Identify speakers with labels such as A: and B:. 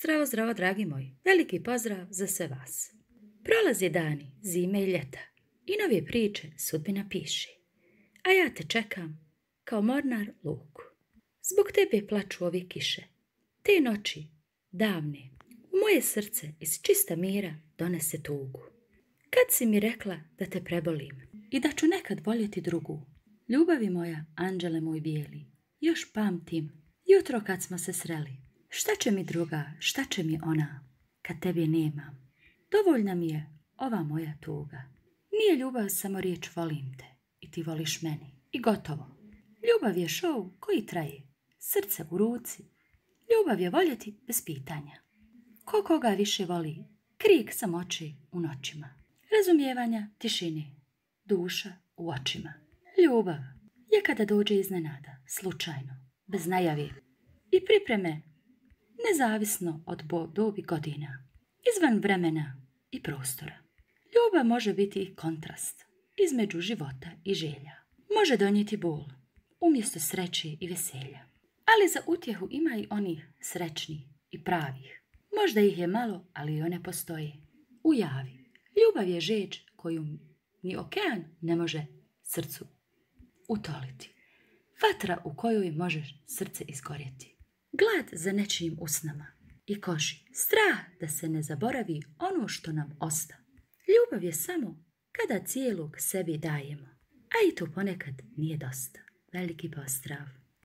A: Zdravo, zdravo, dragi moji. Veliki pozdrav za sve vas. Prolaze dani, zime i ljeta i nove priče sudbina piše. A ja te čekam kao mornar luku. Zbog tebe plaču ove kiše. Te noći, davne, u moje srce iz čista mira donese tugu. Kad si mi rekla da te prebolim i da ću nekad voljeti drugu, ljubavi moja, anđele moj bijeli, još pamtim jutro kad smo se sreli. Šta će mi druga, šta će mi ona, kad tebe nemam? Dovoljna mi je ova moja tuga. Nije ljubav samo riječ volim te i ti voliš meni. I gotovo. Ljubav je šou koji traje. Srce u ruci. Ljubav je voljeti bez pitanja. Ko koga više voli, krik samoći u noćima. Razumijevanja tišine, duša u očima. Ljubav je kada dođe iznenada, slučajno, bez najave i pripreme, nezavisno od dobi godina, izvan vremena i prostora. Ljubav može biti i kontrast između života i želja. Može donijeti bol umjesto sreće i veselja. Ali za utjehu ima i onih srećnih i pravih. Možda ih je malo, ali i one postoje. U javi. Ljubav je žeđ koju ni okean ne može srcu utoliti. Vatra u kojoj možeš srce izgorjeti. Glad za nečijim usnama i koži. Strah da se ne zaboravi ono što nam osta. Ljubav je samo kada cijelog sebi dajemo. A i to ponekad nije dosta. Veliki pozdrav.